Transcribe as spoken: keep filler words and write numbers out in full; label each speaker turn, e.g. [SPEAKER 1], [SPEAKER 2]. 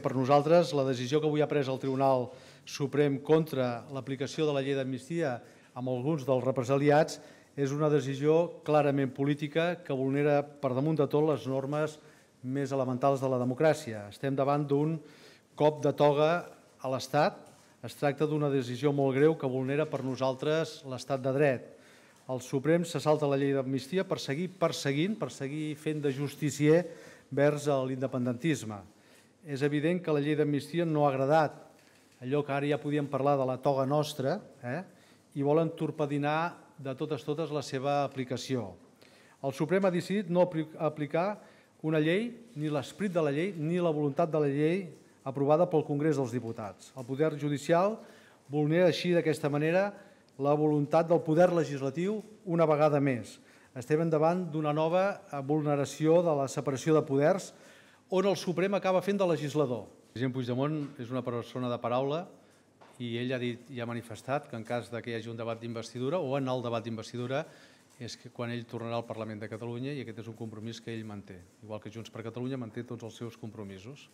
[SPEAKER 1] Per nosaltres, la decisió que avui ha pres el Tribunal Suprem contra l'aplicació de la llei d'amnistia amb alguns dels represaliats és una decisió clarament política que vulnera per damunt de tot les normes més elementals de la democràcia. Estem davant d'un cop de toga a l'Estat. Es tracta d'una decisió molt greu que vulnera per nosaltres l'estat de dret. El Suprem se salta la llei d'amnistia per seguir perseguint, per seguir fent de justicier vers l'independentisme. És evident que la llei d'amnistia no ha agradat, allò que ara ja podíem parlar de la toga nostra, eh? i volen torpedinar de totes totes la seva aplicació. El Suprem ha decidit no aplicar una llei, ni l'esperit de la llei, ni la voluntat de la llei aprovada pel Congrés dels Diputats. El poder judicial vulnera així d'aquesta manera la voluntat del poder legislatiu una vegada més. Estem davant d'una nova vulneració de la separació de poders on el Suprem acaba fent de legislador. El president Puigdemont és una persona de paraula i ell ha dit i ha manifestat que en cas que hi hagi un debat d'investidura o en el debat d'investidura és que quan ell tornarà al Parlament de Catalunya i aquest és un compromís que ell manté, igual que Junts per Catalunya manté tots els seus compromisos.